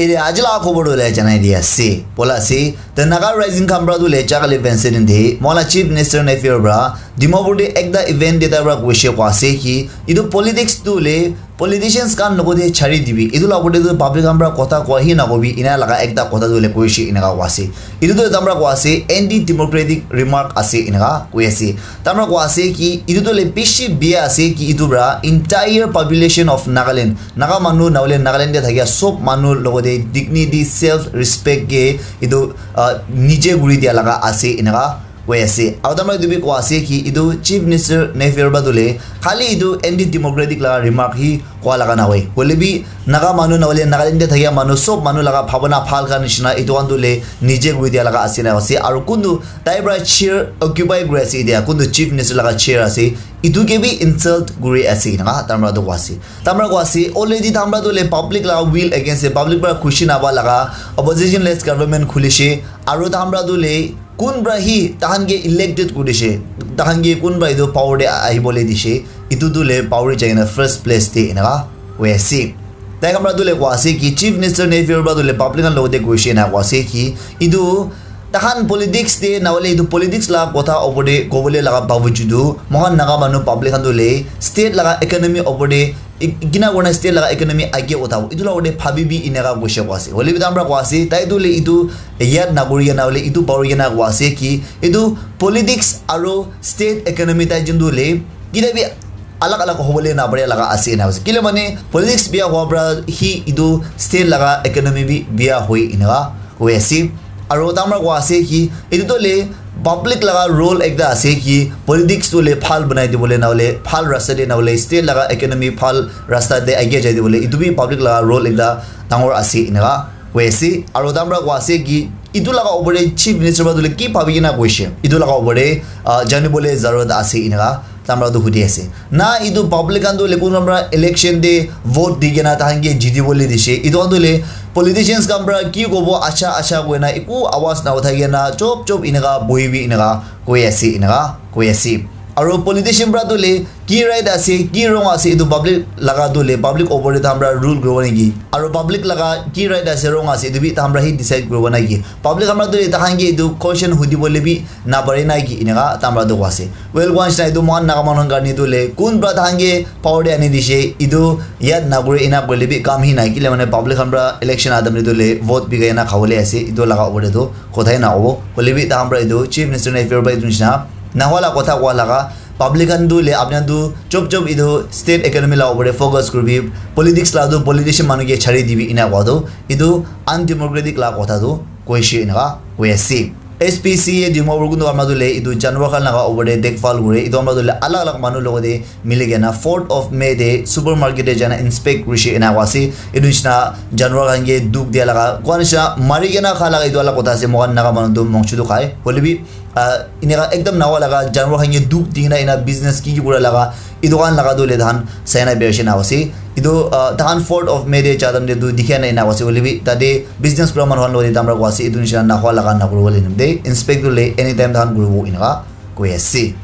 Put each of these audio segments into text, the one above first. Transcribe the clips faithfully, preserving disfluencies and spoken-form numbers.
Ede aji laga khobor tu le janai di ase. Bola ase, the Naga Rising khan pra tu le jakali Wednesday din de, mola Chief Minister Neiphiu pra, Dimapur de ekta event de ta pra kuishe kwa ase ki, itu politics tu le politicians khan logote chari dibi. Itu la opor te tu public khan pra kotha kowa hi nakobi, ina laga ekta kotha tu le kuishe ina ka kwa ase. Itu tu tamra kwa ase, anti-democratic remark ase ina ka koi ase. Tamra kwa ase ki, itu tu le bishi bia ase ki, itu pra entire population of Nagaland, Naga manu, nahoile Nagaland te thakia sob manu logote dignity, self respect ke itu, ah, nije guri dia laga ase ina ka koi ase. Aru tamra itu bi koi ase ki itu Chief Minister Neiphiu pra tu le khali itu anti democratic laga remark hi koi laga na hoi. Hoile bi Naga manu nahoile Nagaland te thakia manu sob manu laga bhabana bhal khan nishina itu khan tu le nije guri dia laga ase na ase. Aru kuntu tai pra chair occupy kuri ase, itia kuntu Chief Minister laga chair ase, itu ke bi insult kuri ase ina ka tamra tu koi ase. Tamra koi ase, already tamra tu le public laga will against ase, public pra khushi naba laga opposition less government khulishe, aru tamra tu le kun pra hi tahan ke elected kurishe, tahan ke kun pra itu power te ahibole dishe, itu tu le power jai na first place te ina ka koi ase. Tai khan pra tu le koi ase ki Chief Minister Neiphiu pra tu le public khan logote kuishe na koi ase ki itu tahan politics te nahoile itu politics laga kotha opor te kobole laga babujudu mohan Naga manu public khan tu le state laga economy opor te i-, kina kurna state laga economy age uthabo. Itu la opor te bhabi bi ina ka kuishe koi ase. Hoile bi tamra koi ase, tai tu le itu yad nakuri kena hoile itu power kena koi ase ki itu politics aru state economy tai jun tu le kita bi alag alag hobole na pare laga ase ina ase. Kile mane politics bia hua pra hi itu state laga economy bi bia hoi ina ka koi ase. Aru tamra koi ase ki itu to le public laga role ekta ase ki politics to le bhal banai dibole nahoile bhal rasta te nahoile state laga economy bhal rasta te agia jai dibole itu bi public laga role ekta dangor ase ina ka koi ase. Aru tamra koi ase ki itu laga opor te Chief Minister pra tu le ki bhabi kena koishe itu laga opor te, ah, janibole zarurat ase ina ka tamra tu hudi ase. Na itu public khan tu le kun khan pra election te vote di kena tahan ke jiti bole dishe. Itu khan tu le politicians khan pra ki kobo acha acha koi na eku awaz na uthai kena chop chop ina ka bohi bi ina ka koi ase ina ka koi ase. Aru politician pra tu le ki right ase, ki wrong ase, itu public laga tu le public opor te tahan pra rule kuribo niki? Aru public laga ki right ase, wrong ase, itu bi tahan pra hi decide kuribo niki? Public khan pra tu le tahan ke itu question hudi bole bi na pare niki ina ka tamra tu koi ase. Well, koi nishina itu mohan Naga manu khan karne tu le kun pra tahan ke power te ani dishe itu yad nakuri ina koile bi kam hi nai. Kile mane public khan pra election adam tu le vote bikai na khabole ase. Itu laga opor te tu kothai na hobo. Hoile bi tahan pra itu Chief Minister Neiphiu pra itu nishina nahwa la kotha koi laga public khan tu le apna tu chop chop itu state economy la opor te focus kuribi, politics la tu politician manu ke chari dibi ina koi tu itu undemocratic la kotha tu koishe ina ka koi ase. S P C A Dimapur kuntu amra tu le itu janwar khan laga opor te dekbhal kure, itu amra tu le alag alag manu logote mili kena fourth of May te supermarket te jana inspect kurishe ena koi ase. Etu nishina janwar khan ke dukh dia laga, koi nishina mari kena kha laga etu alak kotha ase, moikhan Naga manu tu mongchu tu khai. Hoile bi, ah, eneka ekdam nawa laga janwar khan ke dukh di kena ena business ki ki kura laga, etu khan laga tu hoile tahan sai na birai shina ase. Etu, ah, tahan fourth of May te jadam te tu dikhi na ena ase. Hoile bi tate business kura manu khan logote tamra koi ase, etu nishina nakhwa laga nakuribo le nimite inspect tu le anytime tahan kuribo eneka koi ase.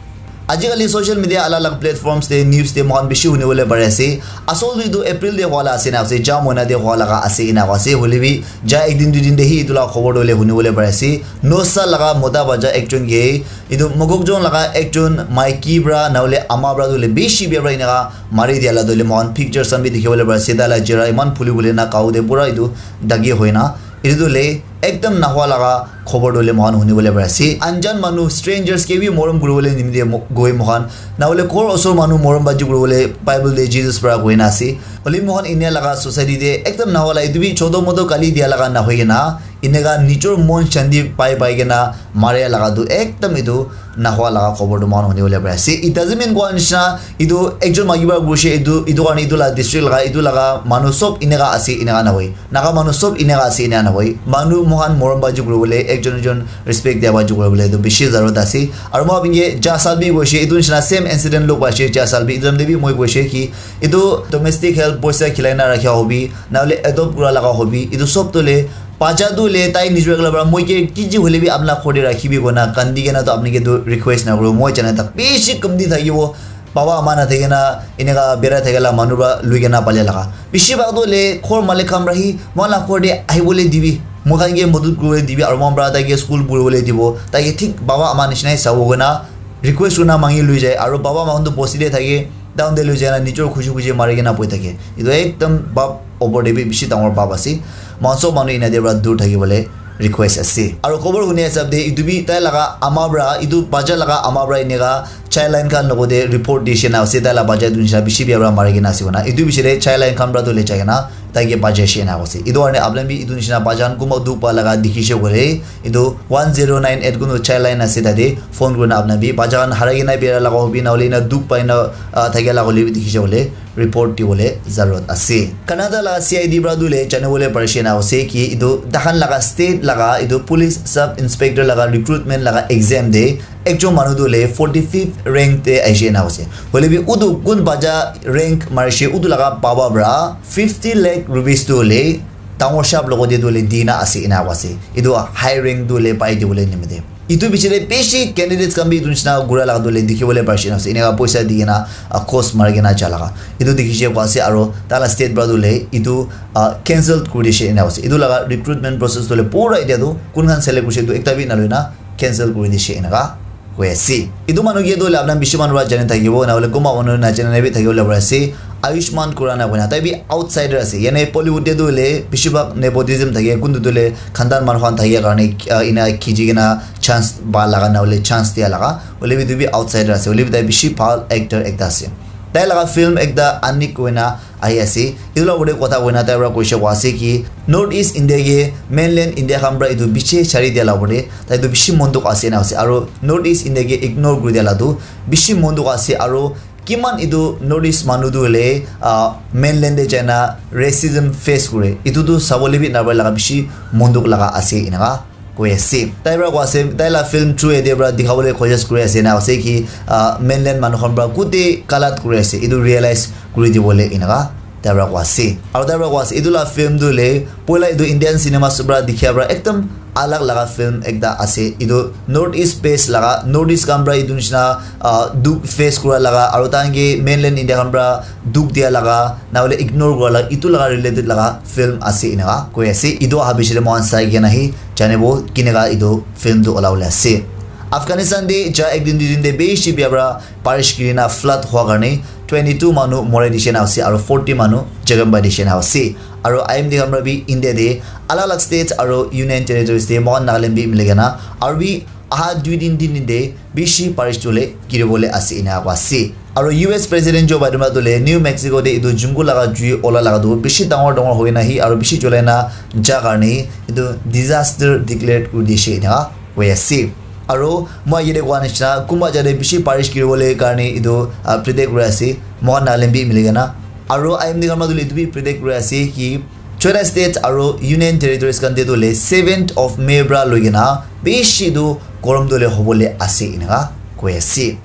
Ajikali social media alak alak platforms te, news te moikhan bishi hunibole pari ase. Asol tu etu April te hua la ase na ase, ja moina te hua laga ase ena koi ase. Hoile bi ja ek din dui din te hi etu la khobor tu hoile hunibole pari ase. Nosa laga mota bacha ekjon ke etu Mokokchung laga ekjon maiki pra na hoile ama pra tu hoile bishi bia pra eneka mari dia la tu hoile moikhan pictures khan bi dikhi bole pari ase. Tai la chehra eman phuli phuli na, gao te pura etu dagi hoi na. Etu tu hoile ekdam nahwa laga khobor tu hoile moikhan huni bole pari ase. Anjan manu, strangers ke bi morom kuri bole nimite mo-, goi moikhan. Na hoile ghor osor manu morom baji kuri bole Bible te Jesus pra koi na ase. Hoile moikhan India laga society te ekdam nahwa la, etu bi choto moto gali dia laga na hoi kena, eneka nijor mon shanti pai pai kena maria laga tu ekdam etu nahwa laga khobor tu moikhan huni bole pari ase. It doesn't mean koi nishina etu ekjon maiki pra kurishe etu, etu karne etu la district laga, etu laga manu sob eneka ase, eneka na hoi. Naga manu sob eneka ase, eneka na hoi. Manu moikhan morom baji kuri bole, ekjon ekjon respect dia baji kuri bole etu bishi zarurat ase. Aru moi apni ke ja sal bi koishe, etu nishina same incident log paishe ja sal bi. Etu time te bi moi koishe ki etu domestic help poisa khilai na rakhia hobi, na hoile adopt kura laga hobi, etu sob tu hoile bacha tu hoile tai nijor ekla pra moi ke kiji hoile bi apna ghor te rakhibi koi na kandi kena tu apni ke tu request na kuru. Moi jana tak bishi kamti thakibo. baba ama nathakina eneka berai thakila manu para lui kena pale laga. Bishi bhag tu le ghor malik khan para hi moikhan la ghor te ahibole dibi, moikhan ke madad kuribole dibi, aru moikhan para tai ke school puribole dibo, tai ke thik baba ama nishina hi sabo koina request kurina mangi lui jai, aru baba ama khan tu bosti te thake, down te lui jai na nijor khushi khushi mari kena boi thake. Etu ekdam bab opor te bi bishi dangor bab ase. Moikhan sob manu ena te para dur thakibole request ase. Aru khobor huni hisab te etu bi tai laga ama para, etu bacha laga ama para eneka child line khan logot te report dise na ase, tai la bacha etu nishina bishi bia para mari kena ase koina. Etu bishi te child line khan para tu le jai kena tai ke bacha she na ase. Etu karne apni khan bi etu nishina bacha khan kunba dukh pa laga dikhi she koile, etu one zero nine eight kunu child line ase, tate phone kurina apni khan bi bacha khan harai kena bia laga hobi na hoile na dukh pai na, ah, thakia laga hoile bi dikhi she koile report dibole zarurat ase. Canada la C I D para tu le janibole parishe na ase ki etu takhan laga state laga etu police sub inspector laga recruitment laga exam te ekjon manu tu le forty fifth rank te aishe na ase. Hoile bi utu kun bacha rank marishe utu laga baba para fifty lakh rupees tu le dangor shap logot te tu le dina ase ena ase. Etu high rank tu le pai dibole nimite. Etu piche te bishi candidates khan bi etu nishina gura laga tu le dikhi bole parishe na ase. Eneka poisa di kena, ah, cost mari kena ja laga. Etu dikhi she pa ase aru tai la state para tu le etu, ah, cancel kuri dishe ena ase. Etu laga recruitment process tu le pura etia tu kun khan select kurishe etu ekta bi na loi na cancel kuri dishe eneka koi ase. Etu manu ke tu le apni khan bishi manu para jani thakibo, na hoile kunba manu na jani na bi thakibo le pare ase. Ayushmann Khurrana koina, tai bi outsider ase. Yane Bollywood te tu hoile bishi bhag nepotism thake, kuntu tu hoile khandan manu khan thake karne, ah, ena khiji kena chance pa laga, na hoile chance dia laga. Hoile bi tu bi outsider ase. Hoile bi tai bishi bhal actor ekta ase. Tai laga film ekta Anik koina ahi ase. Etu la opor te kotha koina tai para koise koa ase ki North East India ke mainland India khan para etu bishi chari dia la opor te tai tu bishi mon dukh ase na ase. Aru North East India ke ignore kuri dia la tu bishi mon dukh ase. Aru kiman etu North East manu tu hoile, ah, mainland te jaina racism face kure, etu tu sabole bi napare laga bishi mon dukh laga ase eneka koi ase. Tai para koi ase, tai la film through ete para dikhabole kosis kuri ase na ase ki, ah, mainland manu khan para kute galat kuri ase, etu realize kuri dibole eneka tai para koi ase. Aru tai para koi ase, etu la film tu hoile poila etu Indian cinema para dikhia para ekdam alag laga film ekta ase. Etu North East based laga, North East khan para etu nishina, ah, dukh face kura laga, aru tahan ke mainland India khan para dukh dia laga, na hoile ignore kura laga, etu laga related laga film ase eneka koi ase. Etu aha piche te moikhan sai kena hi janibo keneka etu film tu ola bole ase. Afghanistan te ja ek din dui din te bishi bia para barish giri na flood hua karne twenty two manu mori dishe na ase, aru forty manu jakham pai dishe na ase. Aru I M D khan para bi India te alag alag states aru union territories te moikhan Nagaland bi mili kena aru bi aha dui din tin din te bishi barish tu hoile giri bole ase eneka koi ase. Aru U S President Joe Biden para tu hoile New Mexico te etu jungle laga jui ola laga tu bishi dangor dangor hoi na hi aru bishi julai na ja karne etu disaster declare kuri dishe eneka koi ase. Aru moi yate koa nishina kunba jate bishi barish giri bole karne etu, ah, predict kuri ase moikhan Nagaland bi mili kena. Aru I M D khan para tu hoile etu bi predict kuri ase ki choita states aru union territories khan te tu hoile seventh of May para loi kena bishi tu gorom tu hoile hobole ase eneka koi ase.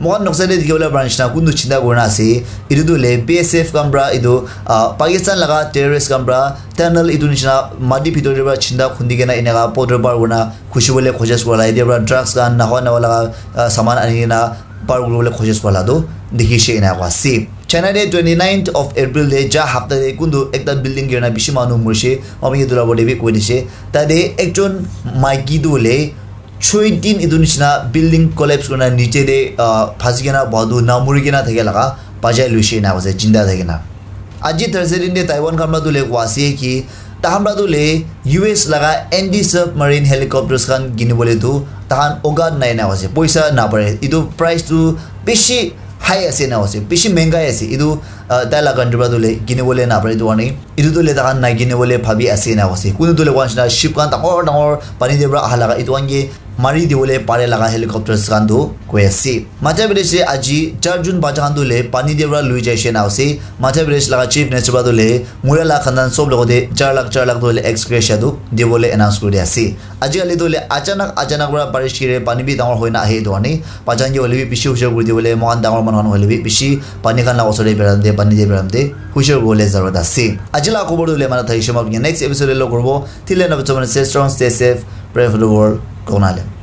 Moikhan noksa te dikhi bole para nishina kuntu chinta kuri na ase, etu tu hoile B S F khan para etu, ah, Pakistan laga terrorist khan para tunnel etu nishina mati bhitor te para chinta khundi kena eneka border par kuri na khushi bole kosis kura la, ete para drugs khan nawa nawa laga, ah, saman ani kena par kuri bole kosis kura la tu dikhi she eneka koi ase. China te twenty ninth of April te ja hapta te kuntu ekta building giri na bishi manu morishe, ami etu la opor te bi koi dishe. Tate ekjon maiki tu hoile choi din etu nishina building collapse kurina niche te, ah, phasi kena boha tu na muri kena thakia laga bachai luishe ena koise jinda thakina. Aji Thursday din te Taiwan khan para tu hoile koa ase ki tahan para tu hoile U S laga anti submarine helicopters khan kini bole tu tahan aukat nai ena koise, poisa napare, etu price tu bishi high ase ena koise, bishi mengai ase etu, ah, tai la country para tu hoile kini bole napare etu karne. Etu tu hoile tahan nai kini bole bhabi ase ena koise. Kunu tu hoile koa nishina ship khan dangor dangor pani te para aha laga etu khan ke mari dibole pare laga helicopters khan tu koi ase. Madhya Pradesh te aji char jon bacha khan tu hoile pani te para lui jaise ena ase. Madhya Pradesh laga Chief Minister para tu hoile muria laga khandan sob logot te char lakh char lakh tu hoile ex gratia tu dibole announce kuri ase. Aji kali tu hoile achanak achanak para barish giri pani bi dangor hoi na ahe etu karne bacha khan ke hoile bi bishi hushiar kuri dibole, moikhan dangor manu khan hoile bi bishi pani khan laga osor te birai te, pani te birai te hushiar kuribole zarurat ase. Aji laga khobor tu hoile mana thakishe, moi apni next episode te log koribo. Till then, stay strong, stay safe, pray for the world. Kona le.